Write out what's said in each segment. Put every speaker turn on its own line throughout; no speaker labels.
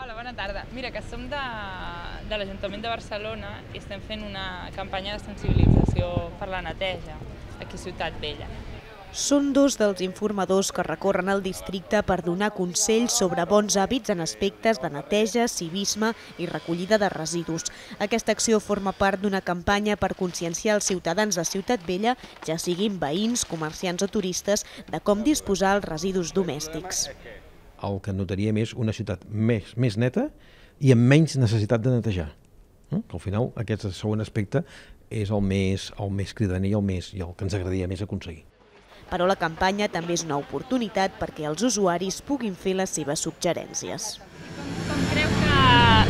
Hola, bona tarda. Mira, que som de l'Ajuntament de Barcelona i estem fent una campanya de sensibilització per la neteja aquí a Ciutat Vella.
Són dos dels informadors que recorren el districte per donar consells sobre bons hàbits en aspectes de neteja, civisme i recollida de residus. Aquesta acció forma part d'una campanya per conscienciar els ciutadans de Ciutat Vella, ja siguin veïns, comerciants o turistes, de com disposar els residus domèstics.
El que notaríem és una ciutat més neta i amb menys necessitat de netejar. Que al final aquest segon aspecte és el més cridaner i el que ens agradaria més aconseguir.
Però la campanya també és una oportunitat perquè els usuaris puguin fer les seves suggerències.
Com creu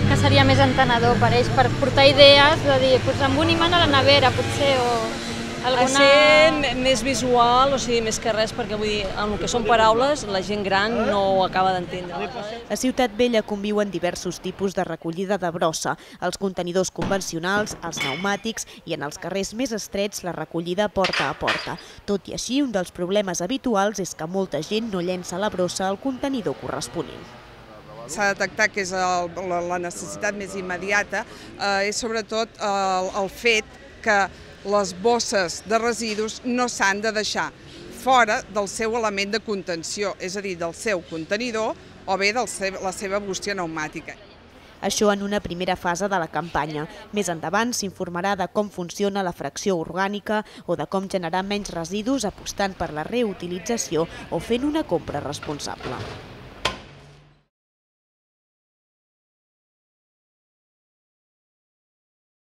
que seria més entenedor per ells, per portar idees, de dir, amb un imant a la nevera, potser, o alguna...
Ser més visual, o sigui, més que res, perquè vull dir, en el que són paraules, la gent gran no ho acaba d'entendre.
A Ciutat Vella conviuen diversos tipus de recollida de brossa, els contenidors convencionals, els pneumàtics i en els carrers més estrets la recollida porta a porta. Tot i així, un dels problemes habituals és que molta gent no llença la brossa al contenidor corresponent.
S'ha detectat que és la necessitat més immediata, és sobretot el fet que les bosses de residus no s'han de deixar fora del seu element de contenció, és a dir, del seu contenidor o bé de la seva bústia pneumàtica.
Això en una primera fase de la campanya. Més endavant s'informarà de com funciona la fracció orgànica o de com generar menys residus apostant per la reutilització o fent una compra responsable.